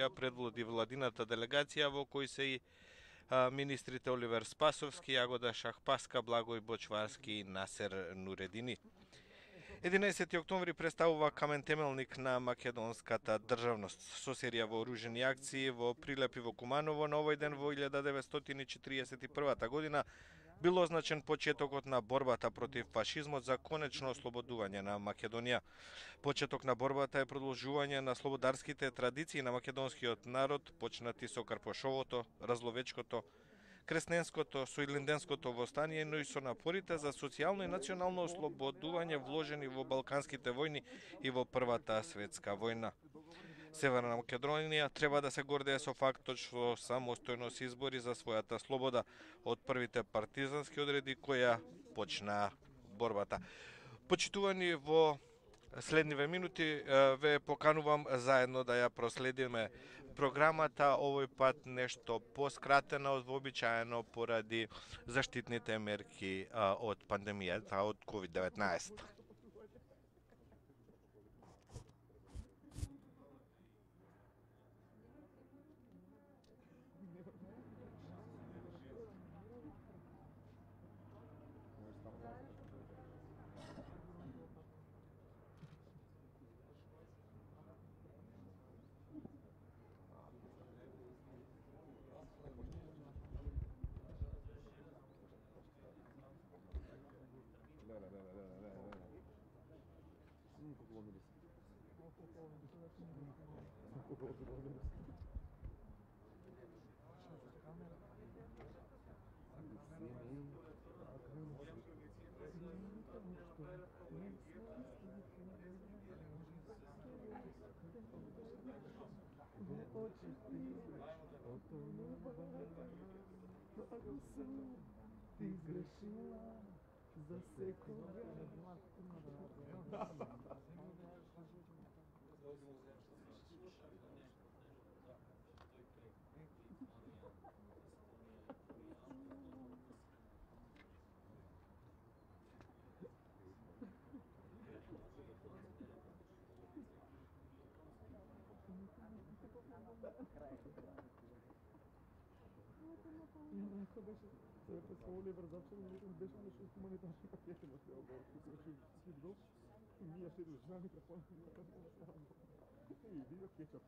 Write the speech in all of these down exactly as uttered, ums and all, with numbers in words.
ја предводи владината делегација во кој се и а, министрите Оливер Спасовски, Јагода Шахпаска, Благој Бочварски и Насер Нуредини. единаесети октомври представува камен темелник на македонската државност. Со серија вооружени акции во Прилеп и во Куманово на овој ден во илјада деветстотини четиридесет и првата година бил означен почетокот на борбата против фашизмот за конечно ослободување на Македонија. Почеток на борбата е продолжување на слободарските традиции на македонскиот народ, почнати со Карпошовото, Разловечкото, Кресненското, Соилинденското востание, но и со напорите за социјално и национално ослободување вложени во Балканските војни и во Првата светска војна. Северна Македонија треба да се гордее со фактот што самостојно се избори за својата слобода од првите партизански одреди која почна борбата. Почитувани, во следниве минути ве поканувам заедно да ја проследиме програмата, овој пат нешто поскратена од вообичаено поради заштитните мерки од пандемијата од ковид деветнаесет. Ти грешила за секога. Neko беше се пресо Оливер зачем беше нешто хуманитарни пакети на се обор, кој се си бил и ние се држани микрофон. И видео кетчап.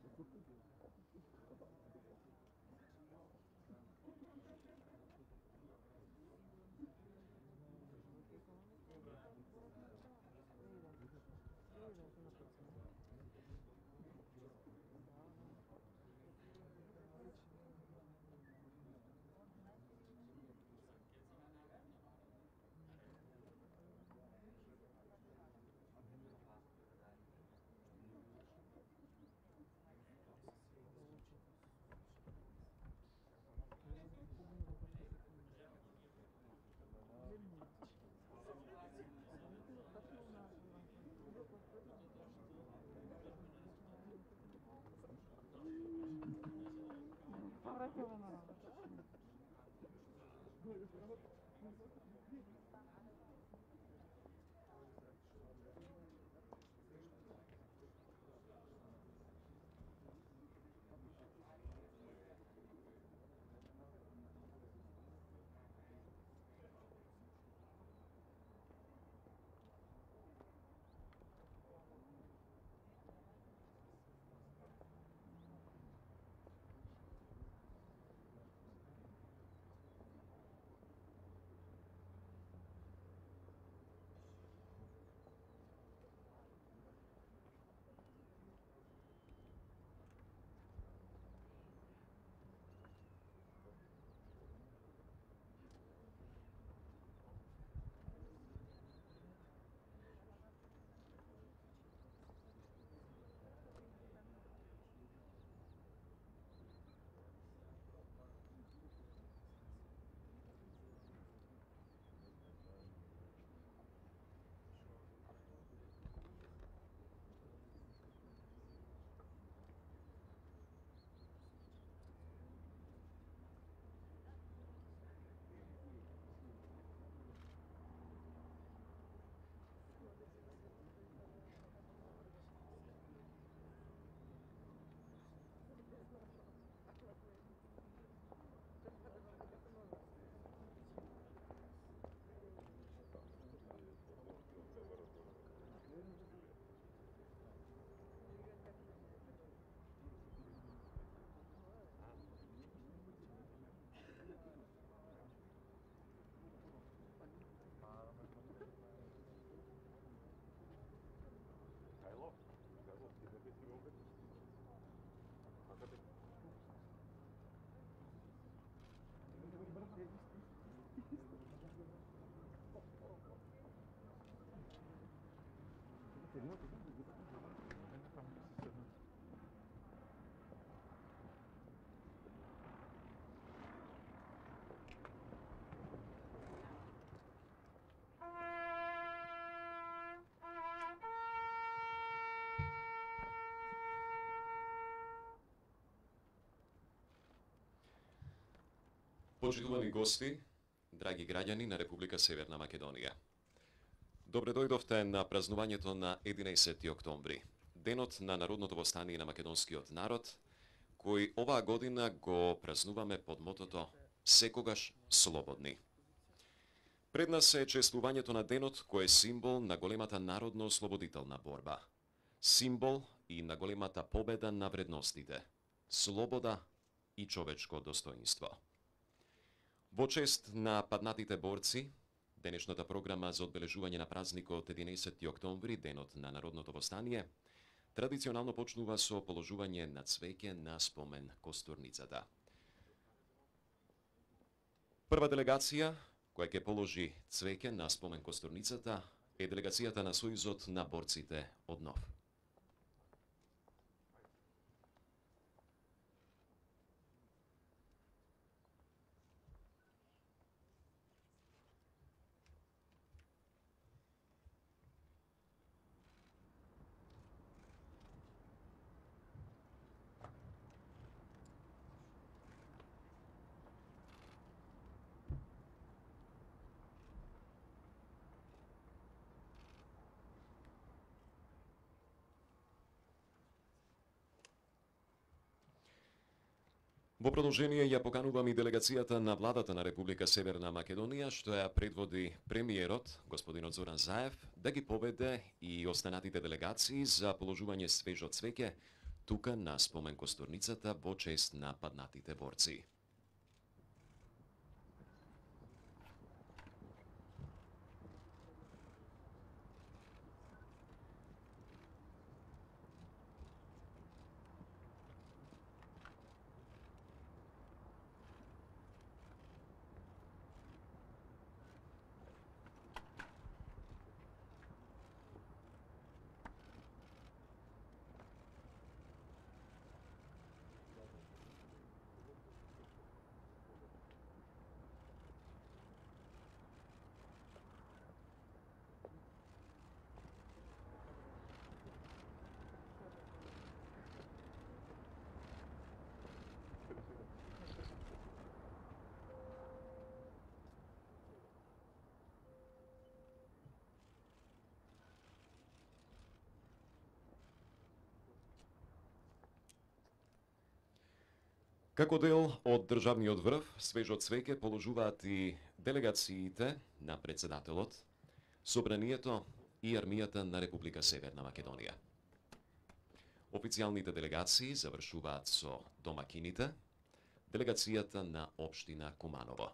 Почитувани гости, драги граѓани на Република Северна Македонија. Добре дојдовте на празнувањето на единаесети октомври, денот на народното востание на македонскиот народ, кој оваа година го празнуваме под мотото "Секогаш слободни". Пред нас е чествувањето на денот кој е символ на големата народно-ослободителна борба, символ и на големата победа на вредностите, слобода и човечко достоинство. Во чест на паднатите борци, денешната програма за одбележување на празникот единаесети октомври, денот на народното востание, традиционално почнува со положување на цвеќе на спомен костурницата. Прва делегација која ќе положи цвеќе на спомен костурницата е делегацијата на Сојузот на борците од НОВ. Во продолжение ја поканувам и делегацијата на владата на Република Северна Македонија, што ја предводи премиерот, господинот Зоран Заев, да ги поведе и останатите делегации за положување свежо цвеќе тука на спомен костурницата во чест на паднатите борци. Како дел од државниот врв, свежо цвеќе положуваат и делегациите на председателот, Собранието и армијата на Република Северна Македонија. Официјалните делегации завршуваат со домакините, делегацијата на општина Куманово.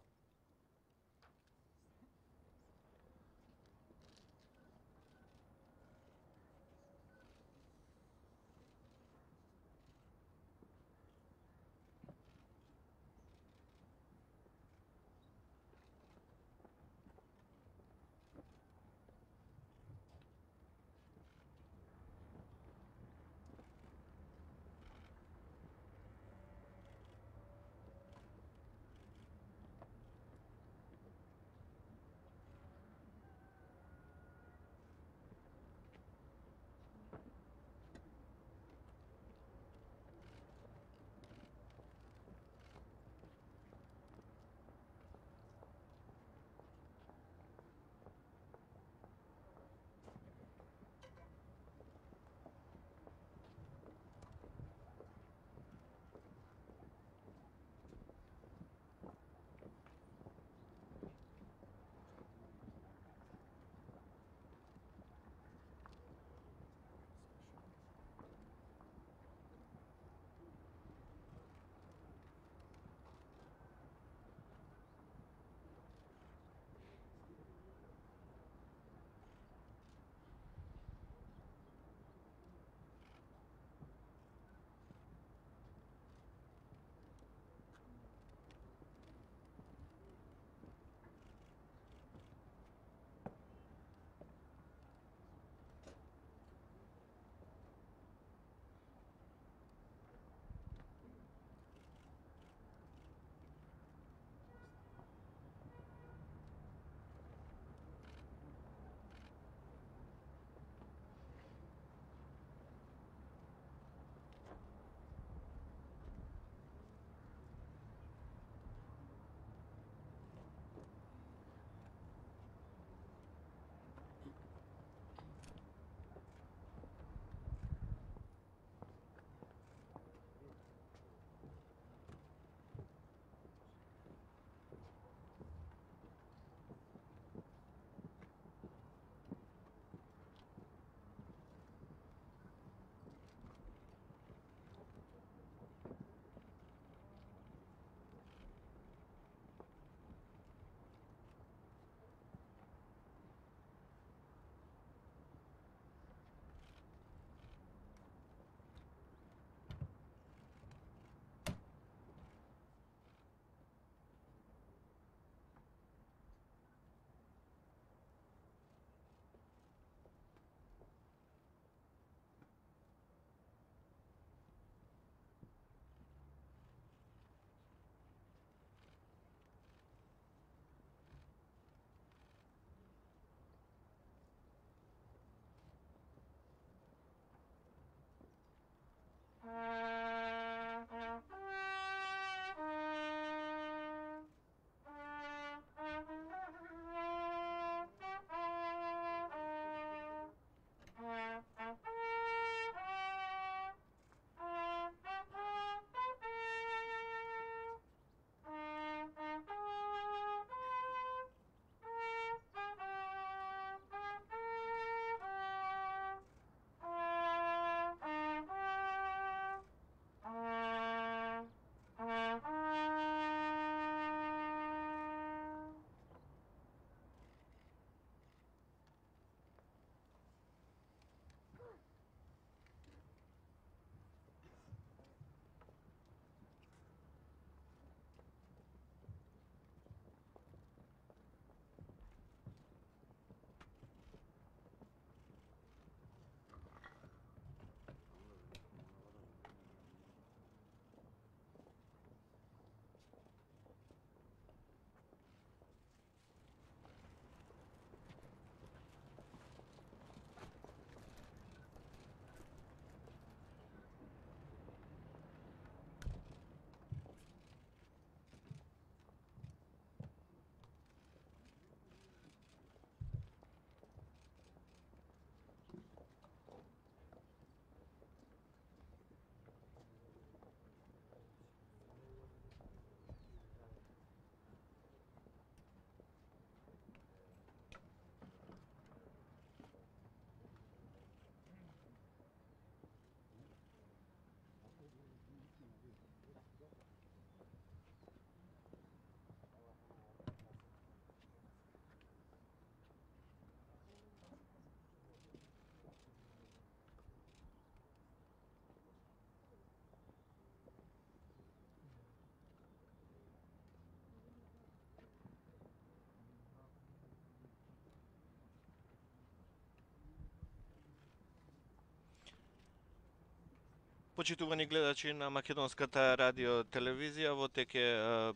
Почитувани гледачи на Македонската радио телевизија, во теке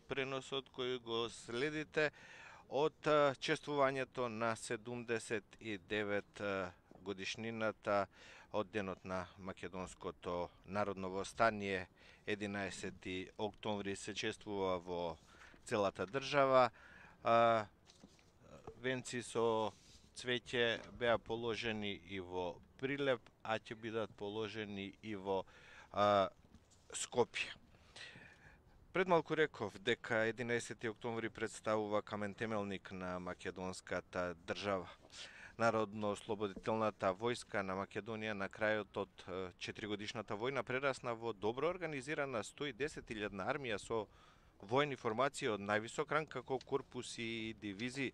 преносот кој го следите од чествувањето на седумдесет и девет годишнината од денот на Македонското народно востание. единаесети октомври се чествува во целата држава. Венци со цвеќе беа положени и во Прилеп, а ќе бидат положени и во а, Скопје. Пред малку реков дека единаесети октомври представува камен темелник на македонската држава. Народно-ослободителната војска на Македонија на крајот од четиригодишната војна прерасна во добро организирана сто и десет илјадна армија со војни формации од највисок ранг како корпуси и дивизии.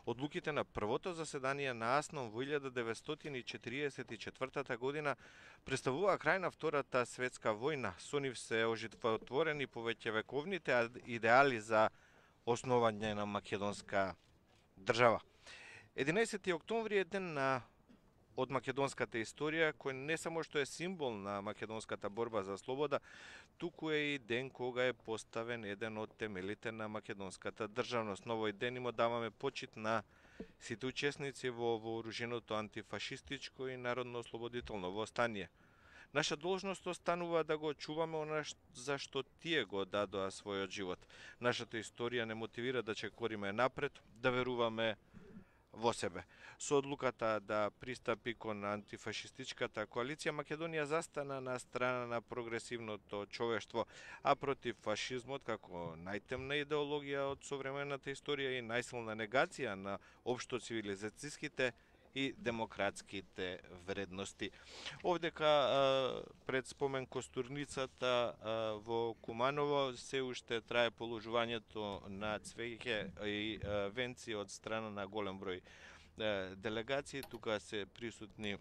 Одлуките на првото заседание на АСНОМ во илјада деветстотини четириесет и четвртата година представува крај на Втората светска војна. Со нив се оживотворени повеќе вековните идеали за основање на македонска држава. единаесети октомври е ден на од македонската историја, кој не само што е символ на македонската борба за слобода, туку е и ден кога е поставен еден од темелите на македонската државност. На овој ден им даваме почит на сите учесници во вооруженото антифашистичко и народно-ослободително востание. Наша должност останува да го чуваме она за што тие го дадоа својот живот. Нашата историја не мотивира да чекориме напред, да веруваме во себе. Со одлуката да пристапи кон антифашистичката коалиција, Македонија застана на страна на прогресивното човештво, а против фашизмот како најтемна идеологија од современата историја и најсилна негација на општо цивилизацијските и демократските вредности. Овдека пред спомен костурницата во Куманово се уште трае положувањето на цвеќе и венци од страна на голем број делегации. Тука се присутни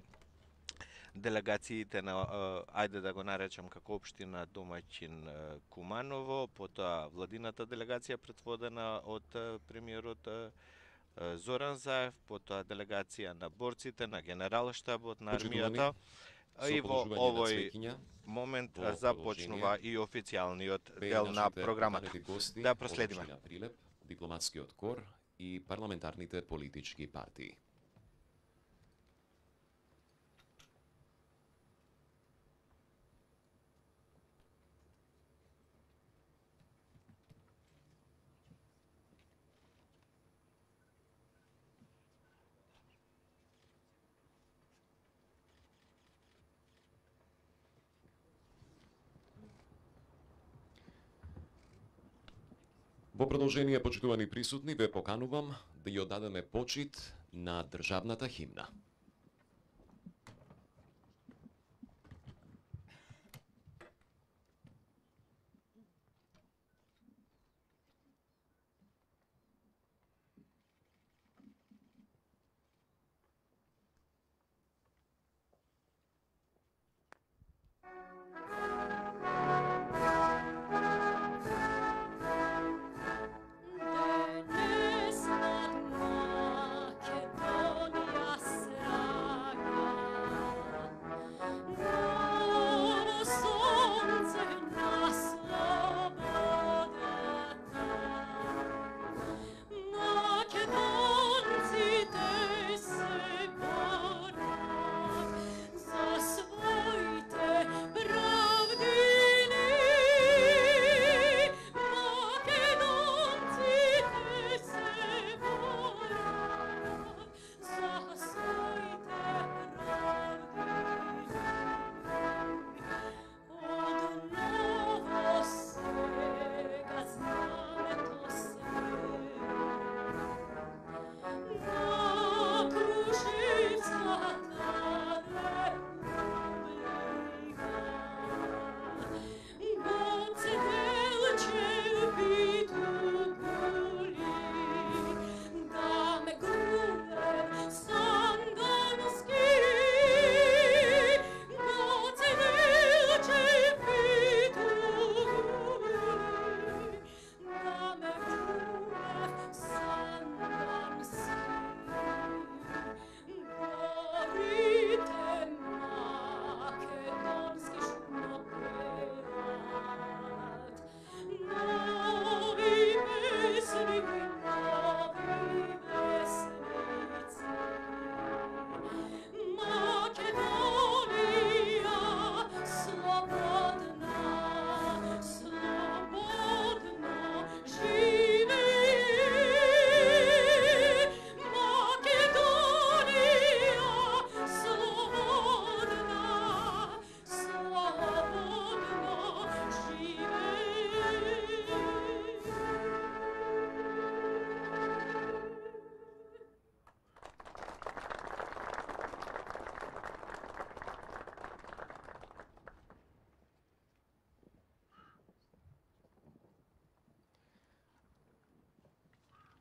делегациите на, ајде да го наречам како општина домаќин Куманово, потоа владината делегација предводена од премиерот Зоран Заев, потоа делегација на борците, на генералштабот, на армијата. И во овој момент започнува и официјалниот дел на програмата. Да проследиме. Прилеп, дипломатскиот кор и парламентарните политички партии. Во продолжение, почитувани присутни, ве поканувам да ја оддадеме почит на државната химна. Денес над Македонија се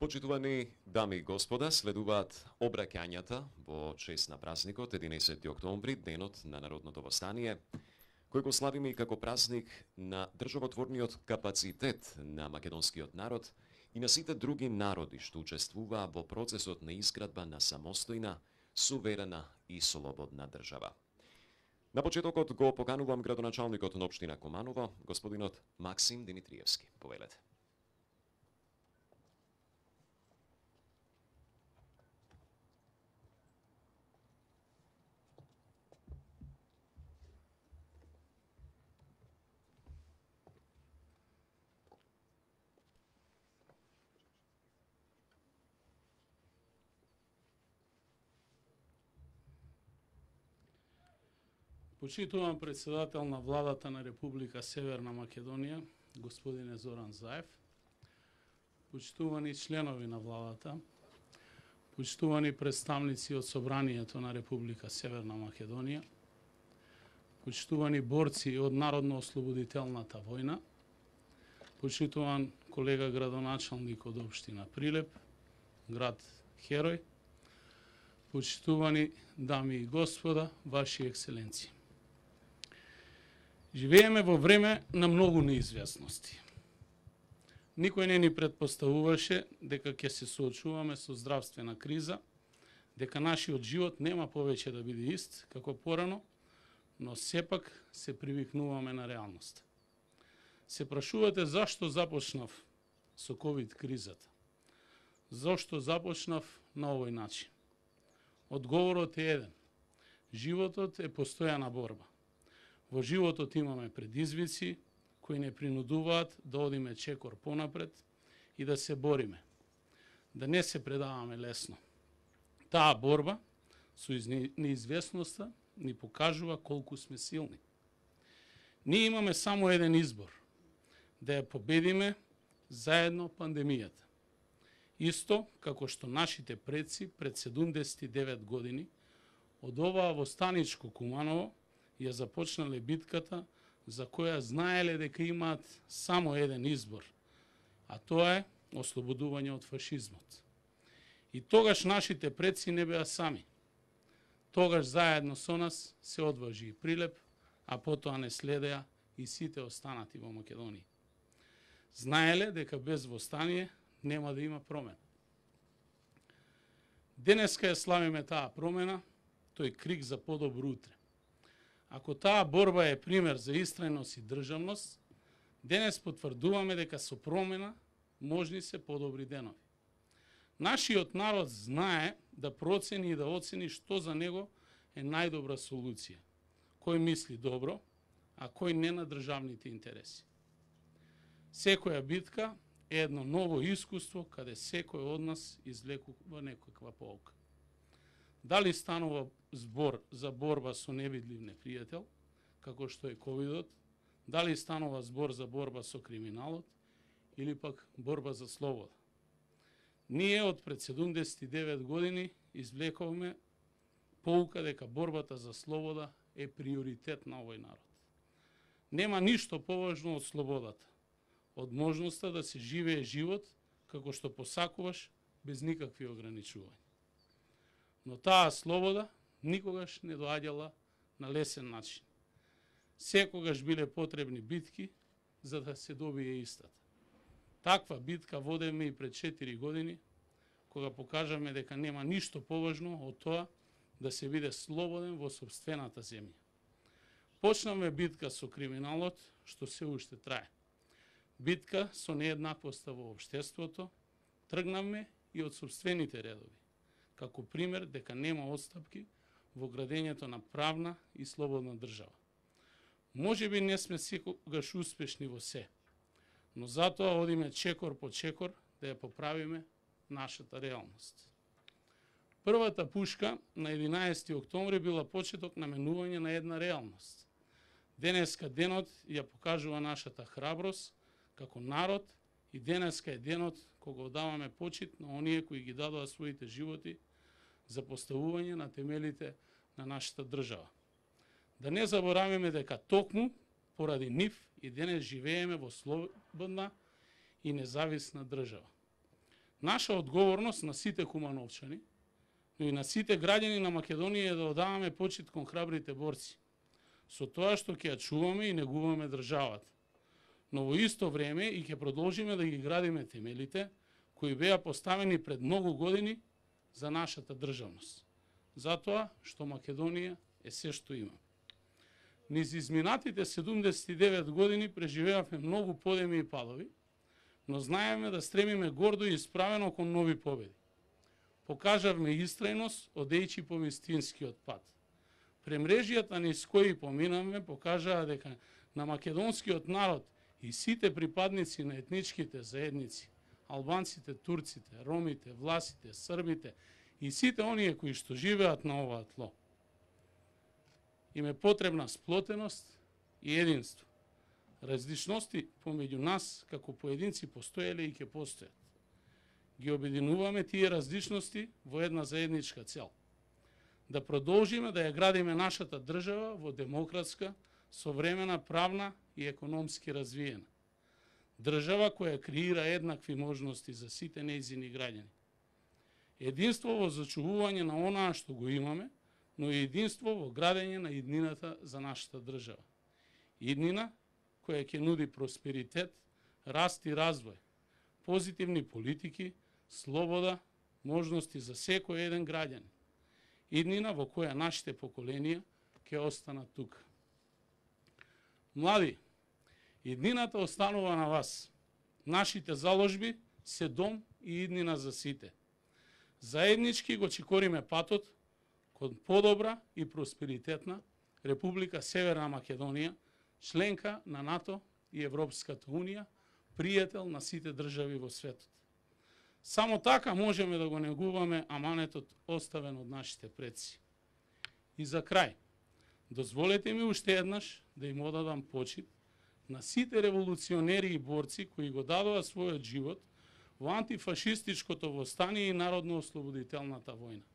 Почитувани дами и господа, следуваат обраќањата во чест на празникот единаесети октомври, денот на Народното востание, кој го славиме и како празник на државотворниот капацитет на македонскиот народ и на сите други народи што учествуваа во процесот на изградба на самостојна, суверена и слободна држава. На почетокот го поканувам градоначалникот на општина Куманово, господинот Максим Димитриевски. Повелете. Почитувам председател на владата на Република Северна Македонија, господине Зоран Заев, почитувани членови на владата, почитувани представници од Собранието на Република Северна Македонија, почитувани борци од Народно-ослободителната војна, почитуван колега градоначалник од општина Прилеп, град Херој, почитувани дами и господа, ваши екселенции. Живееме во време на многу неизвестности. Никој не ни предпоставуваше дека ќе се соочуваме со здравствена криза, дека нашиот живот нема повеќе да биде ист како порано, но сепак се привикнуваме на реалноста. Се прашувате зашто започнав со ковид кризата? Зошто започнав на овој начин? Одговорот е еден. Животот е постојана борба. Во животот имаме предизвици кои не принудуваат да одиме чекор понапред и да се бориме. Да не се предаваме лесно. Таа борба со неизвестноста ни покажува колку сме силни. Ние имаме само еден избор. Да ја победиме заедно пандемијата. Исто како што нашите предци пред седумдесет и девет години од оваа востаничко Куманово ја започнале битката за која знаеле дека имаат само еден избор, а тоа е ослободување од фашизмот. И тогаш нашите предци не беа сами. Тогаш заедно со нас се одважи и Прилеп, а потоа не следеа и сите останати во Македонија. Знаеле дека без востание нема да има промена. Денеска ја славиме таа промена, тој крик за подобро утре. Ако таа борба е пример за истрајност и државност, денес потврдуваме дека со промена можни се подобри денови. Нашиот народ знае да процени и да оцени што за него е најдобра солуција, кој мисли добро, а кој не на државните интереси. Секоја битка е едно ново искуство каде секој од нас извлекува некаква поука. Дали станува збор за борба со невидлив непријател, како што е ковидот, дали станува збор за борба со криминалот, или пак борба за слобода. Ние од пред седумдесет и девет години извлековме поука дека борбата за слобода е приоритет на овој народ. Нема ништо поважно од слободата, од можноста да се живее живот како што посакуваш без никакви ограничувања. Но таа слобода никогаш не доаѓала на лесен начин. Секогаш биле потребни битки за да се добие истата. Таква битка водеме и пред четири години, кога покажаме дека нема ништо поважно од тоа да се биде слободен во сопствената земја. Почнавме битка со криминалот, што се уште трае. Битка со нееднаквоста во општеството, тргнавме и од сопствените редови, како пример дека нема отстапки во градењето на правна и слободна држава. Може би не сме секогаш успешни во се, но затоа одиме чекор по чекор да ја поправиме нашата реалност. Првата пушка на единаесети октомври била почеток на менување на една реалност. Денеска денот ја покажува нашата храброст како народ и денеска е денот кога одаваме почит на оние кои ги дадоа своите животи за поставување на темелите на нашата држава. Да не забораваме дека токму поради нив и денес живееме во слободна и независна држава. Наша одговорност на сите кумановчани, но и на сите граѓани на Македонија е да одаваме почит кон храбрите борци, со тоа што ќе ја чуваме и негуваме државата. Но во исто време и ќе продолжиме да ги градиме темелите кои беа поставени пред многу години за нашата државност. Затоа што Македонија е се што има. Низ изминатите седумдесет и девет години преживеавме многу подеми и падови, но знаеме да стремиме гордо и исправено кон нови победи. Покажавме истрајност, одејќи по вистинскиот пат. Премрежијата низ кои поминавме покажаа дека на македонскиот народ и сите припадници на етничките заедници, албанците, турците, ромите, власите, србите и сите оние кои што живеат на оваа тло, им е потребна сплотеност и единство. Различности помеѓу нас како поединци постоеле и ќе постојат. Ги обединуваме тие различности во една заедничка цел. Да продолжиме да ја градиме нашата држава во демократска, современа, правна и економски развиена. Држава која креира еднакви можности за сите нејзини граѓани. Единство во зачувување на онаа што го имаме, но и единство во градење на иднината за нашата држава. Иднина која ќе нуди просперитет, раст и развој, позитивни политики, слобода, можности за секој еден граѓанин. Иднина во која нашите поколенија ќе останат тука. Млади, иднината останува на вас. Нашите заложби се дом и иднина за сите. Заеднички го чекориме патот кон подобра и просперитетна Република Северна Македонија, членка на НАТО и Европската Унија, пријател на сите држави во светот. Само така можеме да го негуваме аманетот оставен од нашите предци. И за крај, дозволете ми уште еднаш да им одадам почит на сите револуционери и борци кои го дадоа својот живот во антифашистичкото востание и народно-ослободителната војна.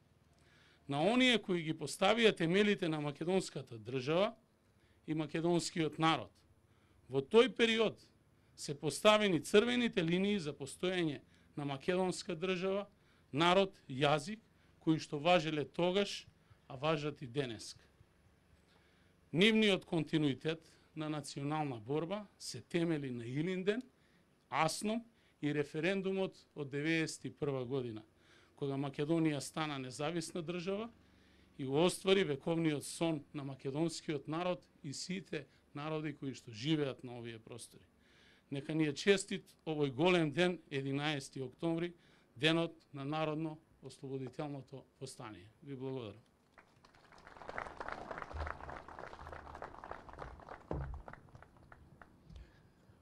На оние кои ги поставија темелите на македонската држава и македонскиот народ. Во тој период се поставени црвените линии за постоење на македонска држава, народ, јазик, кои што важеле тогаш, а важат и денеска. Нивниот континуитет на национална борба се темели на Илинден, Асном и референдумот од деветдесет и прва година, кога Македонија стана независна држава и го оствари вековниот сон на македонскиот народ и сите народи кои што живеат на овие простори. Нека ни е честит овој голем ден, единаесети октомври, денот на народно-ослободителното востание. Ви благодарам.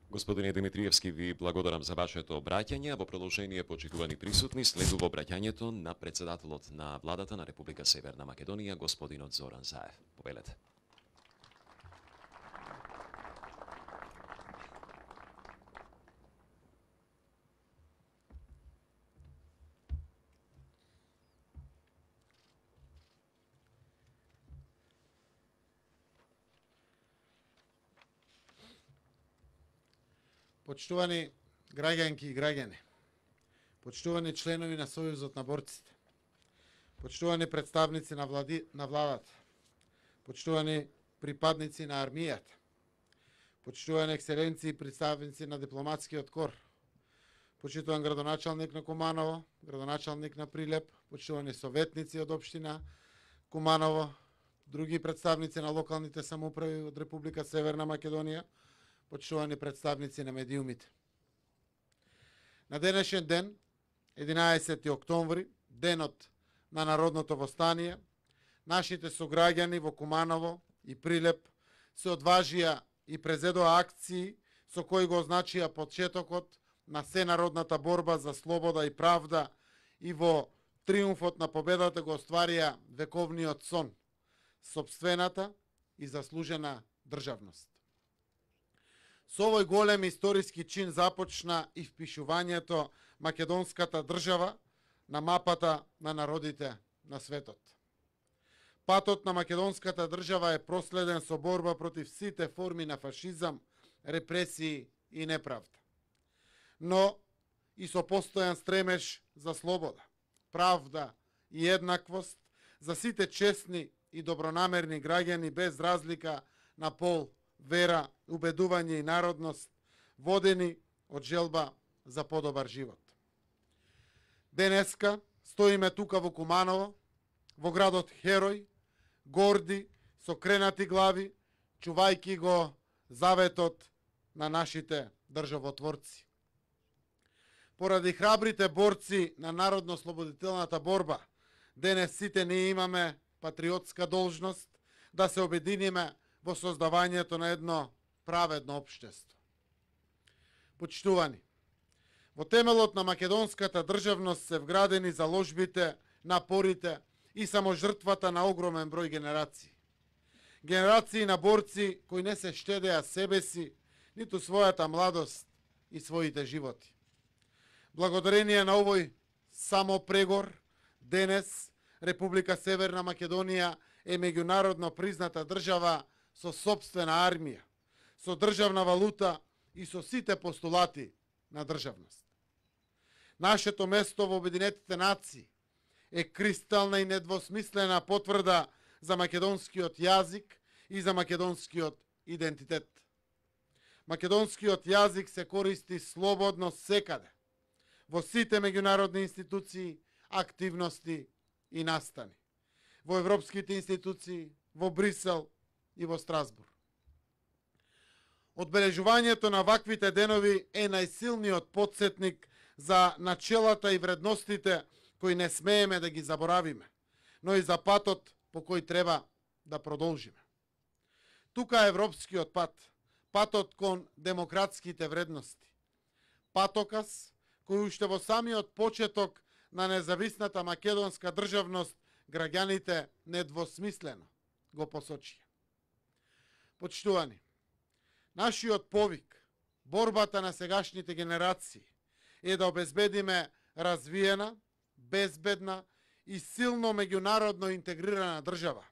Господине Димитриевски, ви благодарам за вашето обраќање. Во продолжение, почитувани присутни, следува обраќањето на председателот на владата на Република Северна Македонија, господинот Зоран Заев. Повелете. Почитувани граѓанки и граѓани, почитувани членови на Сојузот на борците, почитувани представници на, влади, на владата, почитувани припадници на армијата, почитувани екселенции и представници на дипломатскиот кор, почитуван градоначалник на Куманово, градоначалник на Прилеп, почитувани советници од општина Куманово, други представници на локалните самоуправи од Република Северна Македонија, почитувани представници на медиумите. На денешен ден, единаесети октомври, денот на народното востание, нашите сограѓани во Куманово и Прилеп се одважија и презедоа акции со кои го означија почетокот на сенародната борба за слобода и правда и во триумфот на победата го остварија вековниот сон, сопствената и заслужена државност. Со овој голем историски чин започна и впишувањето македонската држава на мапата на народите на светот. Патот на македонската држава е проследен со борба против сите форми на фашизам, репресии и неправда. Но и со постојан стремеж за слобода, правда и еднаквост за сите честни и добронамерни граѓани без разлика на пол, вера, убедување и народност, водени од желба за подобар живот. Денеска стоиме тука во Куманово, во градот Херој, горди, со кренати глави, чувајки го заветот на нашите државотворци. Поради храбрите борци на народно-слободителната борба, денес сите ние имаме патриотска должност да се обединиме во создавањето на едно праведно општество. Почитувани, во темелот на македонската државност се вградени заложбите, напорите и саможртвата на огромен број генерации. Генерации на борци кои не се штедеа себе си, ниту својата младост и своите животи. Благодарение на овој самопрегор, денес Република Северна Македонија е меѓународно призната држава со сопствена армија, со државна валута и со сите постулати на државност. Нашето место во Обединетите нации е кристална и недвосмислена потврда за македонскиот јазик и за македонскиот идентитет. Македонскиот јазик се користи слободно секаде, во сите меѓународни институции, активности и настани, во европските институции, во Брисел и во Страсбург. Одбележувањето на ваквите денови е најсилниот потсетник за начелата и вредностите кои не смееме да ги заборавиме, но и за патот по кој треба да продолжиме. Тука е европскиот пат, патот кон демократските вредности, патокас кој уште во самиот почеток на независната македонска државност граѓаните недвосмислено го посочија. Почитувани, нашиот повик, борбата на сегашните генерации е да обезбедиме развиена, безбедна и силно меѓународно интегрирана држава,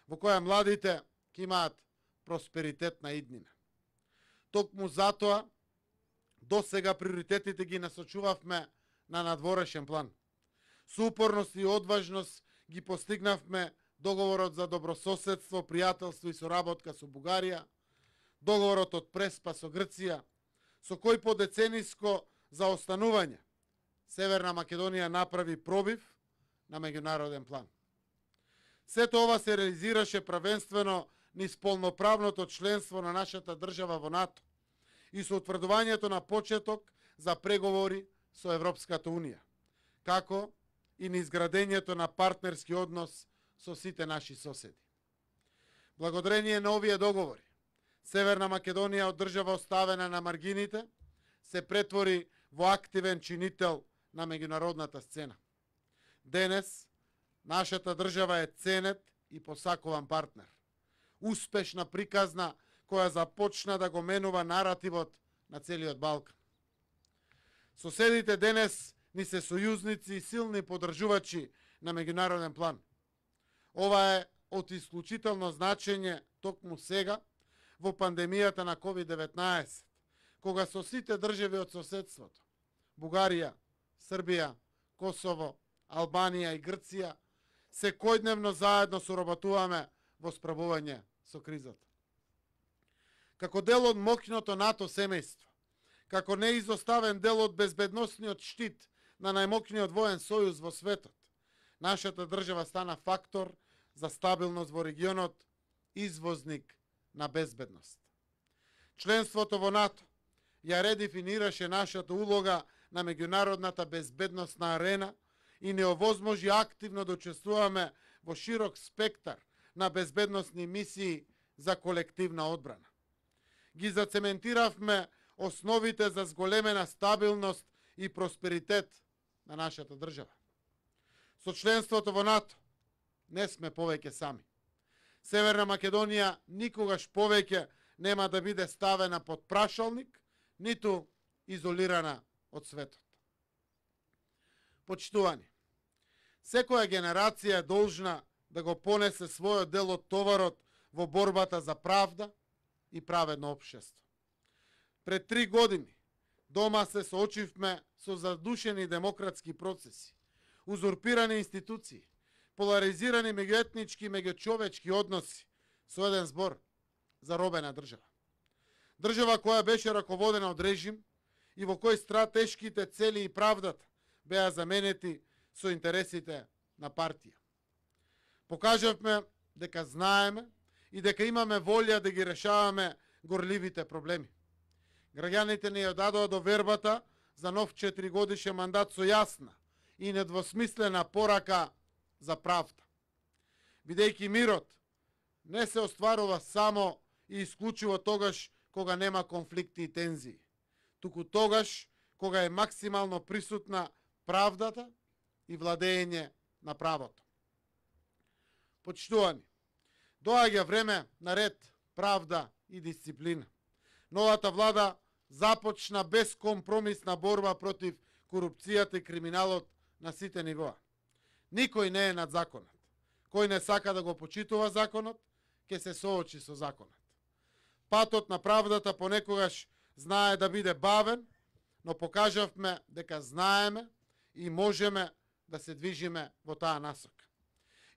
во која младите ќе имаат просперитетна иднина. Токму затоа, до сега приоритетите ги насочувавме на надворешен план. Со упорност и одважност ги постигнавме договорот за добрососедство, пријателство и соработка со Бугарија, договорот од Преспа со Грција, со кој по децениско заостанување Северна Македонија направи пробив на меѓународен план. Сето ова се реализираше правенствено низ полноправното членство на нашата држава во НАТО и со утврдувањето на почеток за преговори со Европската Унија, како и низ градењето на партнерски однос со сите наши соседи. Благодарение на овие договори, Северна Македонија од држава оставена на маргините се претвори во активен чинител на меѓународната сцена. Денес, нашата држава е ценет и посакуван партнер. Успешна приказна која започна да го менува наративот на целиот Балкан. Соседите денес ни се сојузници и силни подржувачи на меѓународен план. Ова е од исклучително значење токму сега во пандемијата на ковид деветнаесет, кога со сите држави од соседството, Бугарија, Србија, Косово, Албанија и Грција, секојдневно заедно соработуваме во справување со кризата. Како дел од моќното НАТО семејство, како неизоставен дел од безбедносниот штит на најмоќниот воен сојуз во светот, нашата држава стана фактор за стабилност во регионот, извозник на безбедност. Членството во НАТО ја редефинираше нашата улога на меѓународната безбедносна арена и не овозможи активно да учествуваме во широк спектар на безбедносни мисии за колективна одбрана. Ги зацементиравме основите за зголемена стабилност и просперитет на нашата држава. Со членството во НАТО не сме повеќе сами. Северна Македонија никогаш повеќе нема да биде ставена под прашалник, ниту изолирана од светот. Почитувани, секоја генерација е должна да го понесе својот дел од товарот во борбата за правда и праведно општество. Пред три години дома се соочивме со задушени демократски процеси, узурпирани институции, поларизирани меѓуетнички и меѓучовечки односи, со еден збор, заробена држава. Држава која беше раководена од режим и во кој стратешките цели и правдата беа заменети со интересите на партија. Покажавме дека знаеме и дека имаме волја да ги решаваме горливите проблеми. Граѓаните ни ја дадоа довербата за нов четиригодишен мандат со јасна и недвосмислена порака за правда. Бидејќи мирот не се остварува само и исклучиво тогаш кога нема конфликти и тензии, туку тогаш кога е максимално присутна правдата и владење на правото. Почитувани, доаѓа време на ред, правда и дисциплина. Новата влада започна безкомпромисна борба против корупцијата и криминалот на сите нивоа. Никој не е над законот. Кој не сака да го почитува законот, ќе се соочи со законот. Патот на правдата понекогаш знае да биде бавен, но покажавме дека знаеме и можеме да се движиме во таа насока.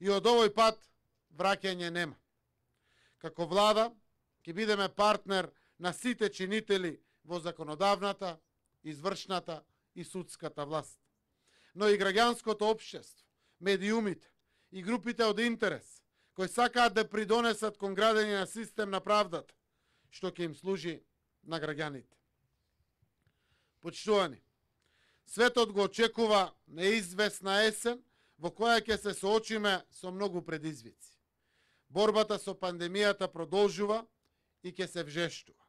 И од овој пат враќање нема. Како влада ќе бидеме партнер на сите чинители во законодавната, извршната и судската власт. Но и граѓанското општество, медиумите и групите од интерес кои сакаат да придонесат кон градење на систем на правдата, што ќе им служи на граѓаните. Почитувани, светот го очекува неизвестна есен во која ќе се соочиме со многу предизвици. Борбата со пандемијата продолжува и ќе се вжештува.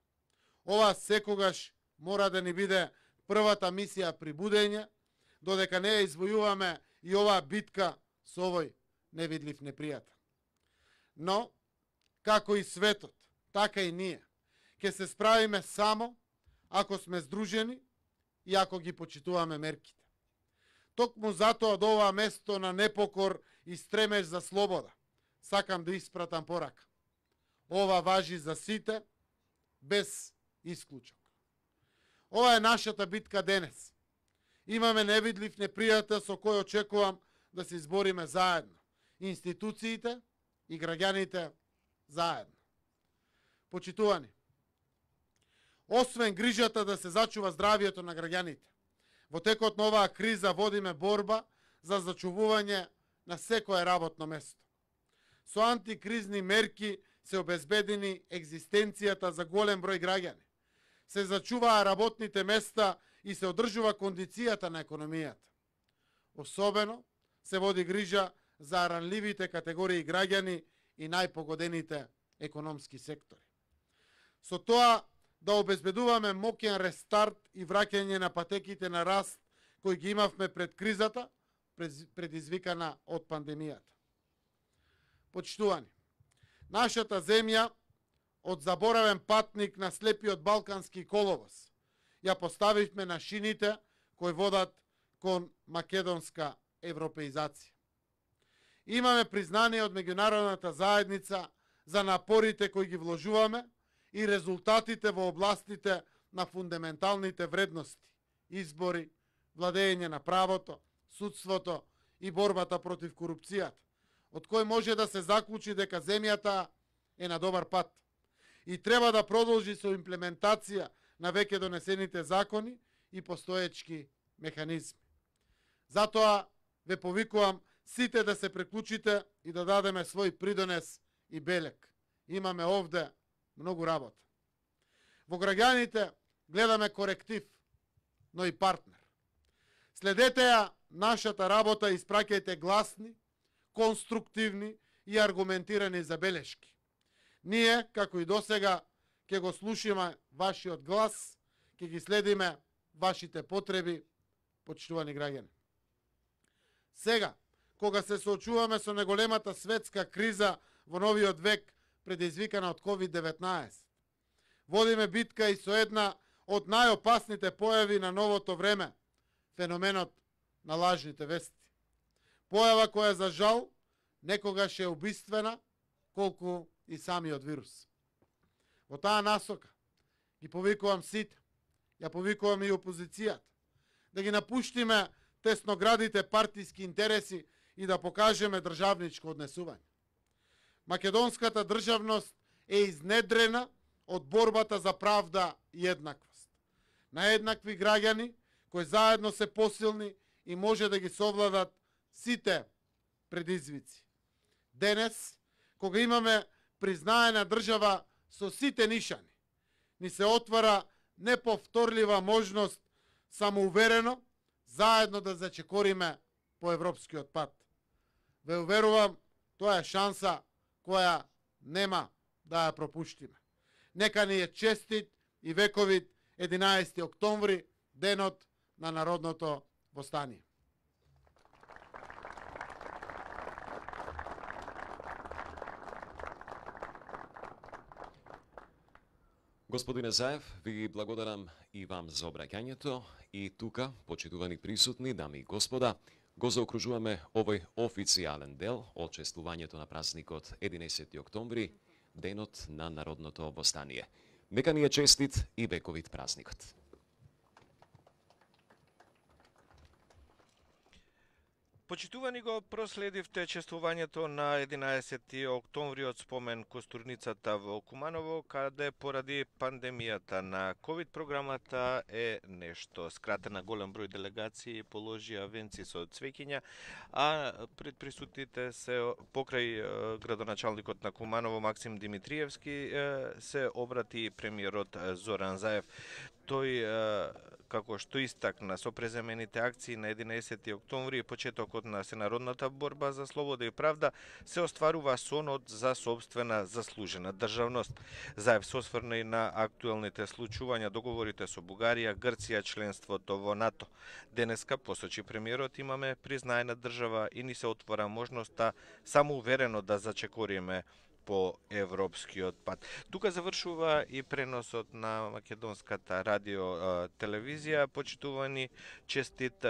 Ова секогаш мора да ни биде првата мисија при будење, додека не ја извојуваме и оваа битка со овој невидлив непријател. Но, како и светот, така и ние, ќе се справиме само ако сме здружени и ако ги почитуваме мерките. Токму затоа од ова место на непокор и стремеж за слобода, сакам да испратам порака. Ова важи за сите, без исклучок. Ова е нашата битка денес. Имаме невидлив непријател со кој очекувам да се избориме заедно. Институциите и граѓаните заедно. Почитувани, освен грижата да се зачува здравието на граѓаните, во текот на оваа криза водиме борба за зачувување на секое работно место. Со антикризни мерки се обезбедени екзистенцијата за голем број граѓани. Се зачуваа работните места и се одржува кондицијата на економијата. Особено се води грижа за ранливите категории граѓани и најпогодените економски сектори. Со тоа да обезбедуваме моќен рестарт и враќање на патеките на раст кои ги имавме пред кризата, предизвикана од пандемијата. Почитувани, нашата земја од заборавен патник на слепиот балкански коловоз ја поставивме на шините кои водат кон македонска европеизација. Имаме признание од меѓународната заедница за напорите кои ги вложуваме и резултатите во областите на фундаменталните вредности, избори, владење на правото, судството и борбата против корупцијата, од кој може да се заклучи дека земјата е на добар пат и треба да продолжи со имплементација на веќе донесените закони и постоечки механизми. Затоа ве повикувам сите да се приклучите и да дадеме свој придонес и белек. Имаме овде многу работа. Во граѓаните гледаме коректив, но и партнер. Следете ја нашата работа и испраќајте гласни, конструктивни и аргументирани забелешки. Ние, како и досега, ќе го слушаме вашиот глас, ќе ги следиме вашите потреби, почитувани граѓани. Сега, кога се соочуваме со најголемата светска криза во новиот век, предизвикана од ковид деветнаесет, водиме битка и со една од најопасните појави на новото време, феноменот на лажните вести. Појава која за жал некогаш е убиствена, колку и самиот вирус. Во таа насока ги повикувам сите, ја повикувам и опозицијата, да ги напуштиме тесноградите партиски интереси и да покажеме државничко однесување. Македонската државност е изнедрена од борбата за правда и еднаквост. На еднакви граѓани кои заедно се посилни и може да ги совладат сите предизвици. Денес, кога имаме признаена држава со сите нишани, ни се отвара неповторлива можност самоуверено заедно да зачекориме по европскиот пат. Ве уверувам, тоа е шанса која нема да ја пропуштиме. Нека ни е честит и вековит единаесети октомври, денот на народното востание. Господине Заев, ви благодарам и вам за обраќањето и тука, почитувани присутни, дами и господа, го заокружуваме овој официјален дел од чествувањето на празникот единаесети октомври, денот на народното востание. Нека ни е честит и вековит празникот. Почитувани, го проследивте чествувањето на единаесети октомври од спомен костурницата во Куманово, каде поради пандемијата на ковид програмата е нешто скратена. Голем број делегации положија венци со цвеќиња, а пред присутните се покрај градоначалникот на Куманово Максим Димитриевски се обрати премиерот Зоран Заев. Тој, како што истакна со преземените акции на единаесети октомври и почетокот на сенародната борба за слобода и правда, се остварува сонот за собствена заслужена државност. Заев се осврна и на актуелните случувања, договорите со Бугарија, Грција, членството во НАТО. Денеска, посочи премиерот, имаме признаена држава и ни се отвора можноста самоуверено да зачекориме по европскиот пат. Тука завршува и преносот на македонската радио телевизија. Почитувани, честит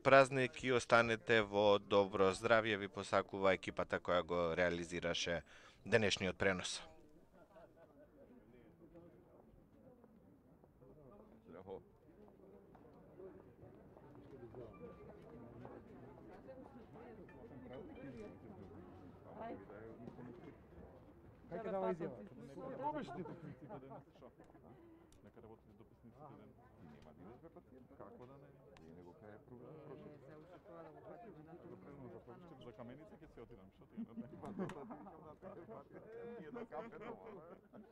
празник и останете во добро здравје, ви посакува екипата која го реализираше денешниот пренос. Кај дава изјава? Обичните дописниците ден, шо? Нека работите дописниците ден. Нема да идеш бе пациент, како да не? И него кај е програм прошо. Не, се уште тоа да го пратиме на допрено за повеќе за каменица ќе се отидам, шо ти не? Па да викам на кафе, ние до кафе дома.